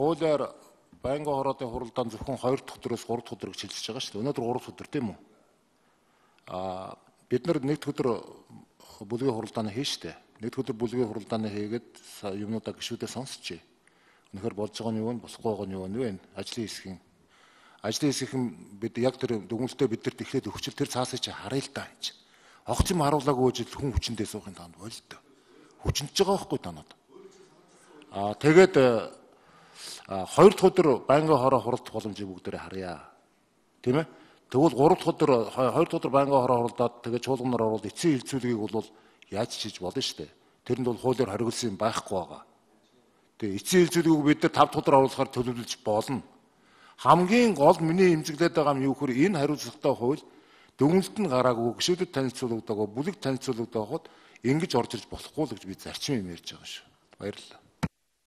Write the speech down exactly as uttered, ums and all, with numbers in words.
хуулиар байнгын хороодын хуралдаан зөвхөн хоёр дахь өдрөөс гурав дахь өдөр гэж хэлж байгаа шүү дээ. Өнөөдөр гурав дахь өдөр тийм үү? Аа бид нар нэг дахь өдөр бүлгийн хуралдааны хийн штэ. Нэг дахь өдөр бүлгийн хуралдааны хийгээд юмнуудаа гişүүдээ сонсчээ. Үнэхээр болж байгаа нь юу вэ? Босхгүй байгаа нь юу вэ? Ажлын хэсгийн ажлын хэсгийн бид яг тэр дүгнэлтээ бидэрт эхлээд өгчл тэр цаасыг чи харъя л да энэ. Огц юм харуулаагүй жил хүн хүчиндээ суухын танд болтой. Хүчинж байгаа байхгүй танад. Аа тэгээд хоёр дахь өдөр байнгын хороо хуралдах боломжийг бүгдээрээ харъя. Тийм ээ? Тэгвэл гурав дахь өдөр хоёр дахь өдөр байнгын хороо хуралдаад тэгээд чуулганаар орвол эцсийн хилцүүлгийг бол яаж чиж болно шүү дээ. Тэрэнд бол хуулиар хориглосон юм байхгүй байгаа. Тэгээд эцсийн хилцүүлгийг бид нар тав дахь өдөр оруулахаар төлөвлөж болно. Хамгийн гол миний эмзэглээд байгаа юм юу гэхээр энэ хариуцлагатай хууль дүгнэлт нь гараагүй гişүүдэд танилцуулагдаагүй бүлэг танилцуулагдаад ингэж орж ирж болохгүй л гэж би зарчим юм ярьж байгаа шүү. Баярлалаа.